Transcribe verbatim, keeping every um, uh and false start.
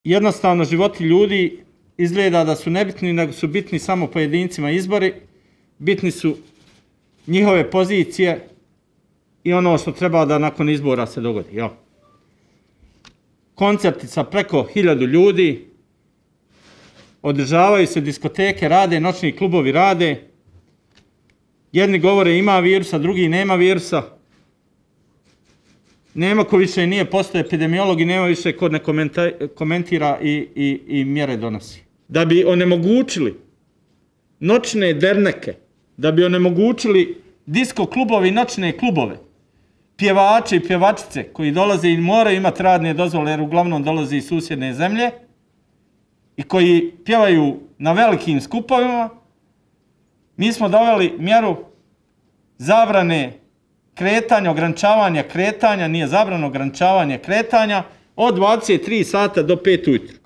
jednostavno životi ljudi izgleda da su nebitni, nego su bitni samo pojedincima izbori, bitni su njihove pozicije i ono što treba da nakon izbora se dogodi. Jo. Koncerti sa preko hiljadu ljudi, održavaju se diskoteke, rade, noćni klubovi rade, jedni govore ima virusa, drugi nema virusa, nema ko više nije postao epidemiolog i nema više ko ne komentira i, i, i mjere donosi. Da bi onemogućili noćne derneke, da bi onemogućili disko klubovi i noćne klubove, pjevači i pjevačice koji dolaze i moraju imati radne dozvole jer uglavnom dolaze iz susjedne zemlje i koji pjevaju na velikim skupovima, mi smo doveli mjeru zabrane kretanja, ograničavanja kretanja, nije zabrano ograničavanje kretanja od dvadeset tri sata do pet ujutro.